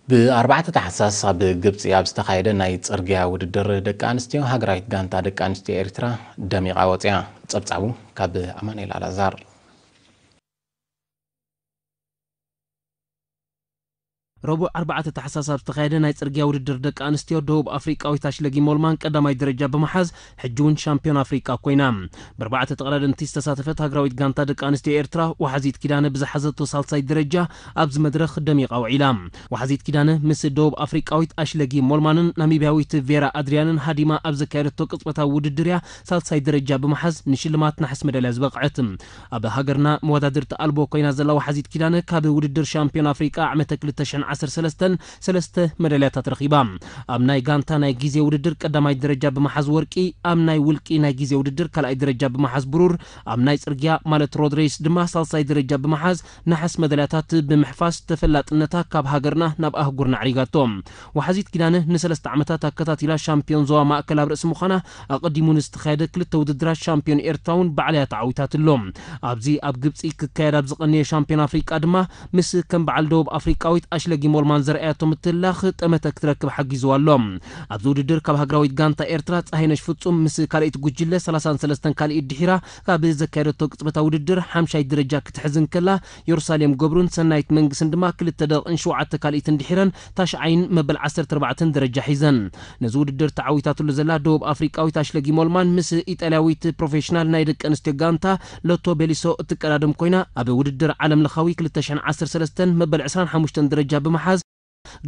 ብ4 ታሕሳስ ኣብ ግብጺ ኣብ ዝተኻየደ ናይ ጽርግያ ውድድር ደቂ ኣንስትዮ፣ ሃገራዊት ጋንታ ደቂ ኣንስትዮ ኤርትራ ደሚቓ ወጺኣ። ጸብጻቡ ካብ ኣማኑኤል ኣልኣዛር። ረቡዕ ኣርባዕተ ታሕሳስ ኣብ ዝተኻየደ ናይ ጽርግያ ውድድር ደቂ ኣንስትዮ፣ ደቡብ ኣፍሪቃዊት ኣሽለጊ ሞልማን ቀዳማይ ደረጃ ብምሓዝ፣ ሕጂ እውን ሻምፒዮን ኣፍሪቃ ኮይና። ብኣርባዕተ ተቐዳደምቲ ዝተሳተፈት ሃገራዊት ጋንታ ደቂ ኣንስትዮ ኤርትራ፣ ወሓዚት ኪዳነ ብዝሓዘቶ ሳልሳይ ደረጃ ኣብዚ መድረኽ ደሚቓ ውዒላ። ወሓዚት ኪዳነ ምስ ደቡብ ኣፍሪቃዊት ኣሽለጊ ሞልማንን ናሚብያዊት ቬራ ኣድሪያንን ሃዲማ ኣብ ዘካየደቶ ቅጽበታዊ ውድድር እያ ሳልሳይ ደረጃ ብምሓዝ ንሽልማት ነሓስ መዳልያ ዝበቕዐት። ኣብ ሃገርና መወዳድርቲ ኣልቦ ኮይና ዘላ ወሓዚት ኪዳነ፣ ካብ ውድድር ሻምፒዮን ኣፍሪቃ ዓመተ ክልተ ሽሕን ዓሰርተ ሰለስተን ሰለስተ መዳልያታት ረኺባ። ኣብ ናይ ጋንታ ናይ ግዜ ውድድር ቀዳማይ ደረጃ ብምሓዝ ወርቂ፣ ኣብ ናይ ውልቂ ናይ ግዜ ውድድር ካልኣይ ደረጃ ብምሓዝ ብሩር፣ ኣብ ናይ ጽርግያ ማለት ሮድ ሬስ ድማ ሳልሳይ ደረጃ ብምሓዝ ነሓስ መዳልያታት ብምሕፋስ ተፈላጥነታ ካብ ሃገርና ናብ ኣህጉርና ኣዕሪጋቶ። ወሓዚት ኪዳነ ንሰለስተ ዓመታት ኣከታቲላ ሻምፒዮን ዞባ ማእከል ኣብ ርእሲ ምዃና፣ ኣቐዲሙ ንዝተኻየደ ክልተ ውድድራት ሻምፒዮን ኤርትራ እውን ባዕላ እያ ተዓዊታትሎ። ኣብዚ ኣብ ግብጺ ክካየድ ኣብ ዝቐነየ ሻምፒዮን ኣፍሪቃ ድማ ምስ ከም በዓል ደቡብ ኣፍሪቃዊት ኣሽለጊ ሞልማን ዘርኣያቶ ምትላኽ ጠመተ ክትረክብ ሓጊዝዋ ኣሎ። ኣብዚ ውድድር ካብ ሃገራዊት ጋንታ ኤርትራ ጸሃይነሽ ፍጹም ምስ ካልኣይቲ ጉጅለ ሰላሳን ሰለስተን ካልኢት ድሒራ ካብ ዘካየደቶ ቅጽበታዊ ውድድር ሓምሻይ ደረጃ ክትሕዝ እንከላ፣ የሩሳሌም ገብሩን ሰናይት መንግስን ድማ ክልተ ደቂቕን ሸውዓተ ካልኢትን ድሒረን ታሽዓይን መበል ዓሰርተ ኣርባዕተን ደረጃ ሒዘን። ነዚ ውድድር ተዓዊታትሉ ዘላ ደቡብ ኣፍሪቃዊት ኣሽለጊ ሞልማን ምስ ኢጣልያዊት ፕሮፌሽናል ናይ ደቂ ኣንስትዮ ጋንታ ሎቶ ቤሊሶ እትቀዳደም ኮይና፣ ኣብ ውድድር ዓለም ለኻዊ ክልተ ሽሕን ዓሰርተ ሰለስተን መበል ዕስራን ሓሙሽተን ደረጃ ብምሓዝ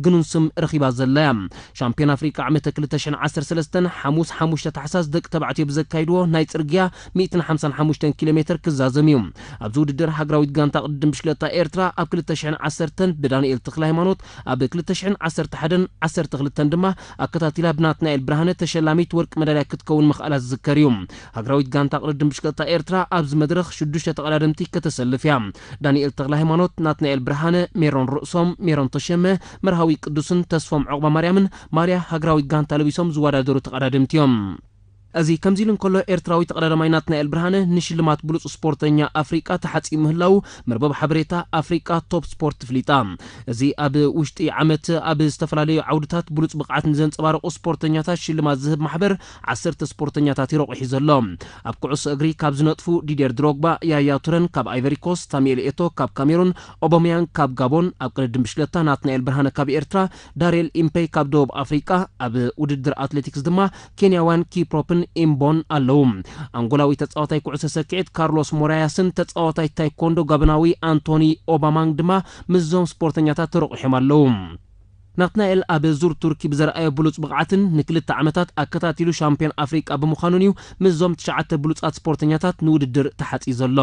ግኑን ስም ረኺባ ዘላ እያ። ሻምፒዮን ኣፍሪቃ ዓመተ ክልተ ሽሕን ዓሰርተ ሰለስተን ሓሙስ ሓሙሽተ ታሕሳስ ደቂ ተባዕትዮ ብዘካይድዎ ናይ ጽርግያ ሚእትን ሓምሳን ሓሙሽተን ኪሎ ሜትር ክዛዘም እዩ። ኣብዚ ውድድር ሃገራዊት ጋንታ ቅድድም ብሽክለታ ኤርትራ ኣብ ክልተ ሽሕን ዓሰርተን ብዳንኤል ተክለ ሃይማኖት፣ ኣብ ክልተ ሽሕን ዓሰርተ ሓደን ዓሰርተ ክልተን ድማ ኣከታቲላ ብናትናኤል ብርሃነ ተሸላሚት ወርቂ መዳልያ ክትከውን ምኽኣላ ዝዝከር እዩ። ሃገራዊት ጋንታ ቅድድም ብሽክለታ ኤርትራ ኣብዚ መድረኽ ሽዱሽተ ተቐዳደምቲ ከተሰልፍ እያ። ዳንኤል ተክለ ሃይማኖት፣ ናትናኤል ብርሃነ፣ ሜሮን ርእሶም፣ ሜሮን ተሸመ፣ መርሃዊ ቅዱስን ተስፎም ዑቕባ ማርያምን ማርያ ሃገራዊት ጋንታ ለቢሶም ዝወዳደሩ ተቐዳደምቲ እዮም። እዚ ከምዚ ኢሉ እንከሎ፣ ኤርትራዊ ተቐዳዳማይ ናትናኤል ብርሃነ ንሽልማት ብሉጽ ስፖርተኛ ኣፍሪቃ ተሓጺኡ ምህላዉ መርበብ ሓበሬታ ኣፍሪቃ ቶፕ ስፖርት ፍሊጣ። እዚ ኣብ ውሽጢ ዓመት ኣብ ዝተፈላለዩ ዓውድታት ብሉጽ ብቕዓት ንዘንጸባረቑ ስፖርተኛታት ሽልማት ዝህብ ማሕበር ዓሰርተ ስፖርተኛታት እዩ ረቑሒ ዘሎ። ኣብ ኩዕሶ እግሪ ካብ ዝነጥፉ ዲዴር ድሮግባ፣ ያያ ቱረን ካብ ኣይቨሪኮስት፣ ሳሙኤል ኤቶ ካብ ካሜሩን፣ ኦቦሚያንግ ካብ ጋቦን፣ ኣብ ቅድድም ብሽክለታ ናትናኤል ብርሃነ ካብ ኤርትራ፣ ዳርየል ኢምፔይ ካብ ደቡብ ኣፍሪቃ፣ ኣብ ውድድር ኣትሌቲክስ ድማ ኬንያውያን ኪፕሮፕን ኢምቦን ኣለዉ። ኣንጎላዊ ተጻዋታይ ኩዕሶ ሰኪዔት ካርሎስ ሞራያስን ተጻዋታይ ታይኮንዶ ጋቦናዊ ኣንቶኒ ኦባማንግ ድማ ምስዞም ስፖርተኛታት ተረቑሖም ኣለዉ። ናትናኤል ኣብ ዙር ቱርኪ ብዘርኣዮ ብሉጽ ብቕዓትን ንክልተ ዓመታት ኣከታቲሉ ሻምፒዮን ኣፍሪቃ ብምዃኑን እዩ ምስዞም ትሽዓተ ብሉጻት ስፖርተኛታት ንውድድር ተሓጺ ዘሎ።